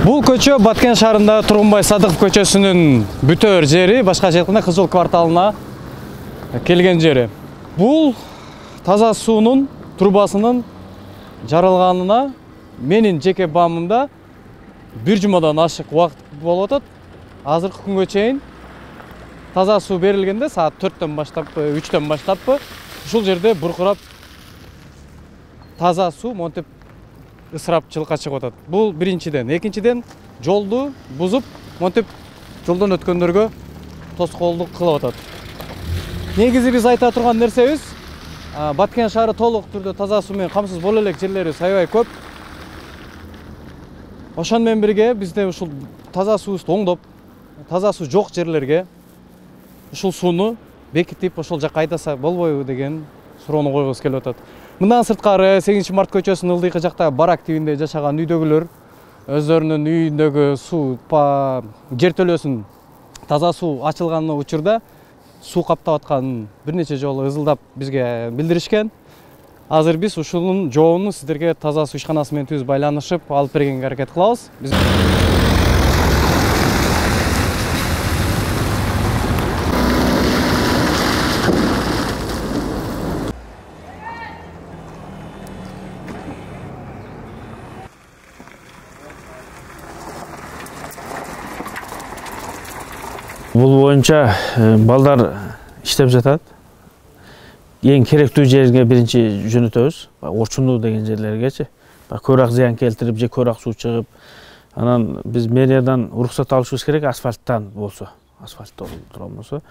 Бул көчө Баткен шаарында Тургунбай Садыков көчөсүнүн бүтөр жери, башка айтканда Кызыл кварталына келген жери. Бул таза суунун трубасынын жарылганына менин жеке баамымда бир жумадан ашык убакыт болуп атат. Азыркы күнгө чейин таза суу берилгенде саат 4-төн баштаппы, 3-төн баштаппы, ушул жерде буркурап таза суу монтип ысырапчылыкка чыгып атат. Бул биринчиден. Экинчиден, жолду бузуп, монтип жолдон өткөндөргө тоскоолдук кылып атат. Негизи биз айта турган нерсебиз, Баткен шаары толук түрдө таза суу менен камсыз боло элек жерлери аябай көп. Ошон менен бирге бизде ушул таза суубузду оңдоп, таза суу жок жерлерге ушул сууну бекитип, ошол жакка айдаса болбойбу деген суроону койгубуз келип атат. Мындан сырткары 8-март көчөсүнүн ылдыйкы жакта барак тибинде жашаган үйдөгүлөр өздөрүнүн үйүндөгү суу жертөлөсүн таза суу ачылган учурда суу каптап атканын бир нече жолу ызылдап бизге билдиришкен. Азыр биз ушунун жообун сиздерге таза суу ишканасы менен түз байланышып алып бергенге аракет кылабыз. Бул боюнча балдар иштеп жатат. Эң керектүү жерге биринчи жөнөтөбүз. Орчундуу деген жерлергечи. Көбүрөөк зыян келтирип, же көбүрөөк суу чыгып, анан биз мэриядан уруксат алышыбыз керек, асфальттан болсо, асфальтта турган болсо.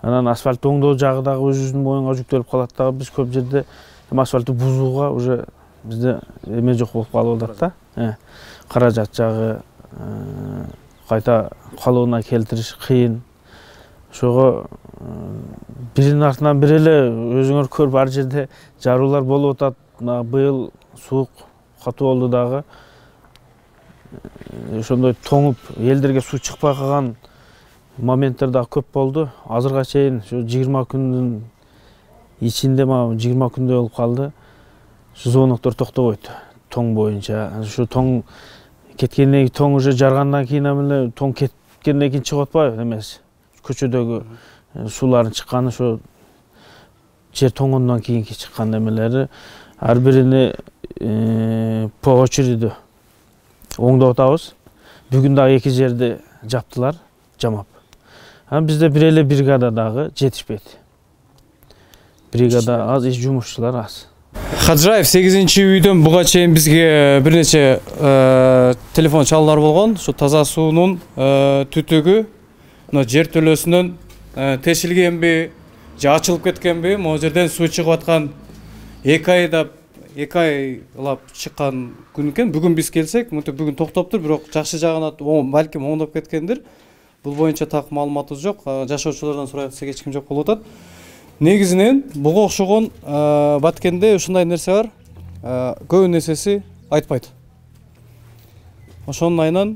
Анан асфальтты оңдоо жагы дагы өзүбүздүн моюнга жүктөлүп калат дагы. Биз көп жерде асфальтты бузууга уже бизде эме жок болуп калып атат да. Каражат жагы кайта калыбына келтириш кыйын. Ошого биринин артынан бири эле өзүңөр көрүп ар жерде жаруулар болуп атат. Быйыл суук катуу болду дагы. Ошондой тоңуп элдерге суу чыкпай калган моменттер дагы көп болду. Азырга чейин ушу 20 күндүн ичинде 20 күндө болуп калды. Ушу звоноктор токтобойт тоң боюнча. Ушу тоң кеткенден кийин, тоң уже жаргандан кийин эле тоң кеткенден кийин чыгып атпайбы эмес. Көчөдөгү суулардын чыкканы ошо жер тоңгондон кийинки чыккан эмелери ар бирини по очереди оңдоп атабыз. Бүгүн дагы 2 жерди жаптылар, жамап. Анан бизде бир эле бригада дагы жетишпейт. Бригада аз, жумушчулар аз. Хаджаев 8-үйдөн буга чейин бизге бир нече телефон чалуулар болгон. Ушу таза суунун түтүгү жертөлөсүнөн тешилгенби, же ачылып кеткенби, могу жерден суу чыгып аткан 2 айлап чыккан күн экен. Бүгүн биз келсек, бүгүн токтоптур, бирок жакшы жагына балким оңдоп кеткендир. Бул боюнча так маалыматыбыз жок. Жашоочулардан сурай атсак эч ким жок болуп атат. Негизинен буга окшогон Баткенде ушундай нерсе бар. Көбүн эсеси айтпайт. Ошонун айынан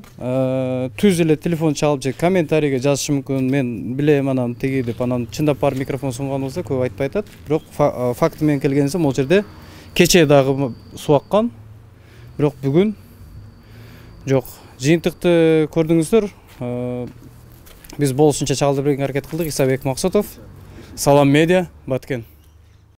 түз эле телефон чалып же комментарийге жазышы мүмкүн. Мен билем анан тиги деп, анан чындап бар микрофон сунган болсо көп айтпай атат. Бирок факты менен келгенде могу жерде кечээ дагы суу аккан. Бирок бүгүн жок. Жыйынтыкты көрдүңүздөр. Биз болушунча чалдырып бергенге аракет кылдык. Исабек Максутов, Салам Медиа, Баткен.